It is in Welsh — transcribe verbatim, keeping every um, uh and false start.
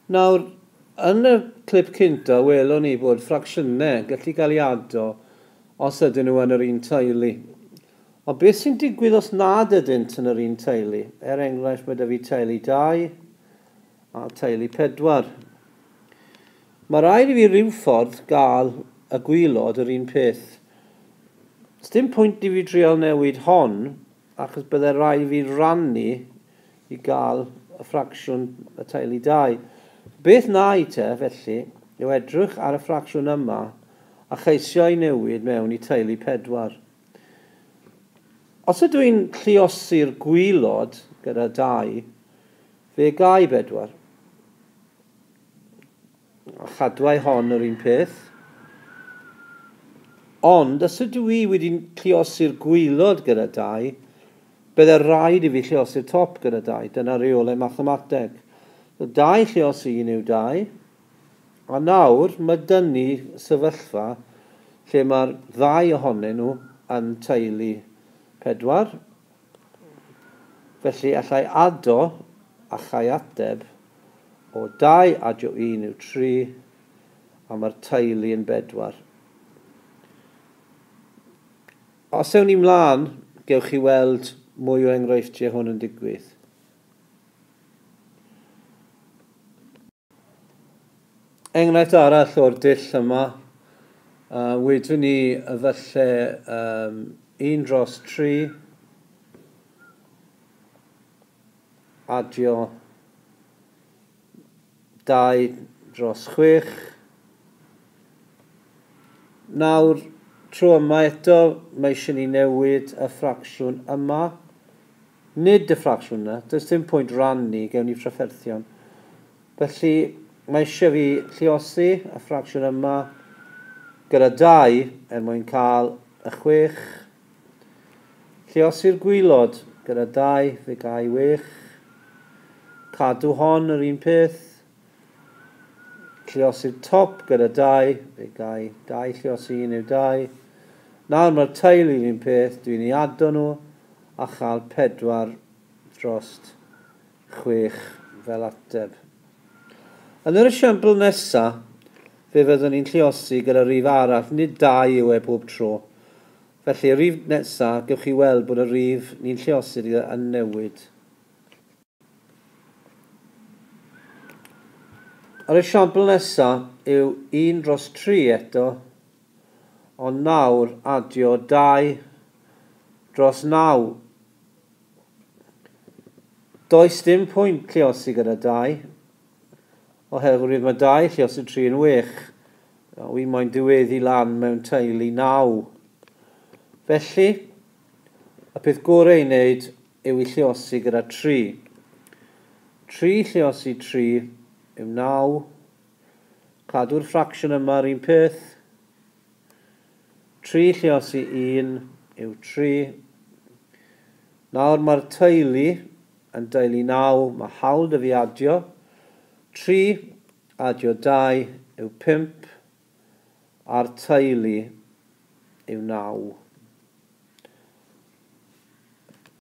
Nawr, yn y clip cynta, welon ni bod ffracsiynau gallu cael ei ado os ydyn nhw yn yr un teulu. Ond beth sy'n digwydd os nad ydynt yn yr un teulu? Er enghraifft, mae 'da fi teulu dau a teulu pedwar. Mae rhaid i fi ryw ffordd gael y gwylod yr un peth. Sdim pwynt i fi drial newid hon, achos bydde rhaid i fi rannu i gael y ffracsiwn y teulu dau. Beth na i te, felly, yw edrych ar y ffracsiwn yma a cheisio i newid mewn i teulu pedwar. Os ydw i'n lluosi'r gwylod gyda dau, fe gai bedwar. A chadwai hon yr un peth. Ond, os ydw i wedi lluosi'r gwylod gyda dau, bydde rhaid i fi lluosi'r top gyda dau. Dyna reolau mathemateg. So, dau lluosi un yw dau. A nawr, mae dynnu sefyllfa lle mae'r ddau ohonyn nhw yn teulu pedwar. Felly, allai ado a chai ateb o dau adio un yw tri, a mae'r teulu yn bedwar. Os ewn ni mlaen, gewch chi weld mwy o enghreifftiau hwn yn digwydd. Enghraifft arall o'r dull yma, uh, wedwn ni falle um, un dros tri adio dau dros chwech. Nawr, tro yma eto, mae eisiau ni newid y ffracsiwn yma. Nid y ffracsiwn yna, does dim pwynt rannu, gewn ni trafferthion. Felly, mae eisiau fi lluosi y ffracsiwn yma gyda dau er mwyn cael y chwech. Lluosi'r gwylod gyda dau, fe gai wech. Cadw hon yr un peth. Lluosi'r top gyda dau, fe gai dau lluosi un yw dau. Nawr mae'r teulu yr un peth, dwi'n ei ado nhw a chael pedwar dros chwech fel ateb. Yn yr esiampl nesaf, fe fyddwn ni'n lluosi gyda rif arall, nid dau yw e bob tro. Felly, y rif nesaf, gewch chi weld bod y rif ni'n lluosi yn newid. Yr esiampl nesaf yw un dros tri eto, ond nawr adio dau dros naw. Does dim pwynt lluosi gyda dau, oherwydd mae dau lluosi tri yn wech. Wi moyn diweddu lan mewn teulu naw. Felly, y peth gorau i wneud yw i lluosi gyda tri. Tri lluosi tri yw naw. Cadw'r ffracsiwn yma yr un peth. Tri lluosi un yw tri. Nawr mae'r teulu yn deulu naw, mae hawl 'da fi adio. Tri adio dau yw pump, a'r teulu yw naw.